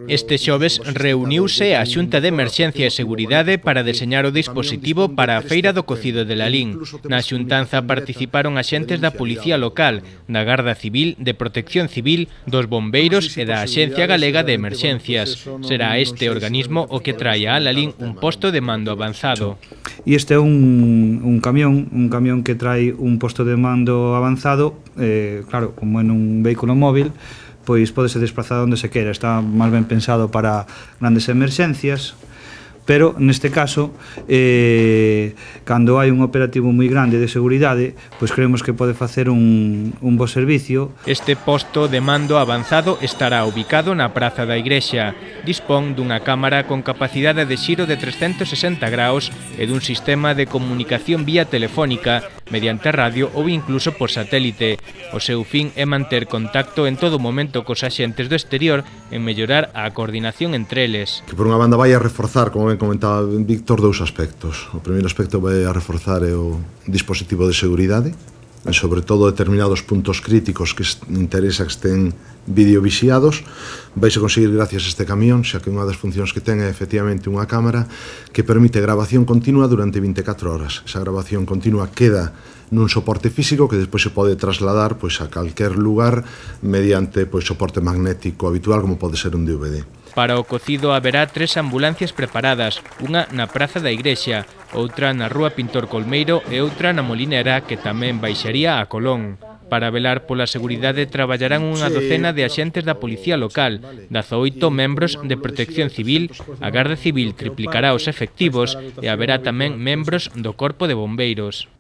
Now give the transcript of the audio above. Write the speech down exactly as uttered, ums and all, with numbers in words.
Este xoves reuniuse a Xunta de Emerxencia e Seguridade para deseñar o dispositivo para a Feira do Cocido de Lalín. Na xuntanza participaron axentes da Policía Local, da Garda Civil, de Protección Civil, dos bombeiros e da Axencia Galega de Emerxencias. Será este organismo o que traia a Lalín un posto de mando avanzado. E este é un, un camión, un camión que trae un posto de mando avanzado, eh, claro, como en un vehículo móvil, pois podese desplazar onde se quera, está máis ben pensado para grandes emerxencias, pero neste caso, eh, cando hai un operativo moi grande de seguridade, pois creemos que pode facer un, un bo servicio. Este posto de mando avanzado estará ubicado na Praza da Igrexa. Dispón dunha cámara con capacidade de xiro de trescentos sesenta graus e dun sistema de comunicación vía telefónica, mediante radio ou incluso por satélite. O seu fin é manter contacto en todo momento cos axentes do exterior en mellorar a coordinación entre eles. Que por unha banda vai a reforzar, como ben comentaba Víctor, dous aspectos. O primeiro aspecto vai a reforzar é o dispositivo de seguridade, e sobre todo determinados puntos críticos que interesa que estén videovixiados. Vais a conseguir gracias a este camión, xa que unha das funcións que ten é efectivamente unha cámara que permite grabación continua durante vinte e catro horas. Esa grabación continua queda nun soporte físico que despois se pode trasladar pois, a calquer lugar mediante pois, soporte magnético habitual como pode ser un D V D. Para o cocido haberá tres ambulancias preparadas, unha na Praza da Igrexa, outra na Rúa Pintor Colmeiro e outra na Molinera, que tamén baixaría a Colón. Para velar pola seguridade traballarán unha docena de axentes da Policía Local, dezaoito membros de Protección Civil, a Garda Civil triplicará os efectivos e haberá tamén membros do Corpo de Bombeiros.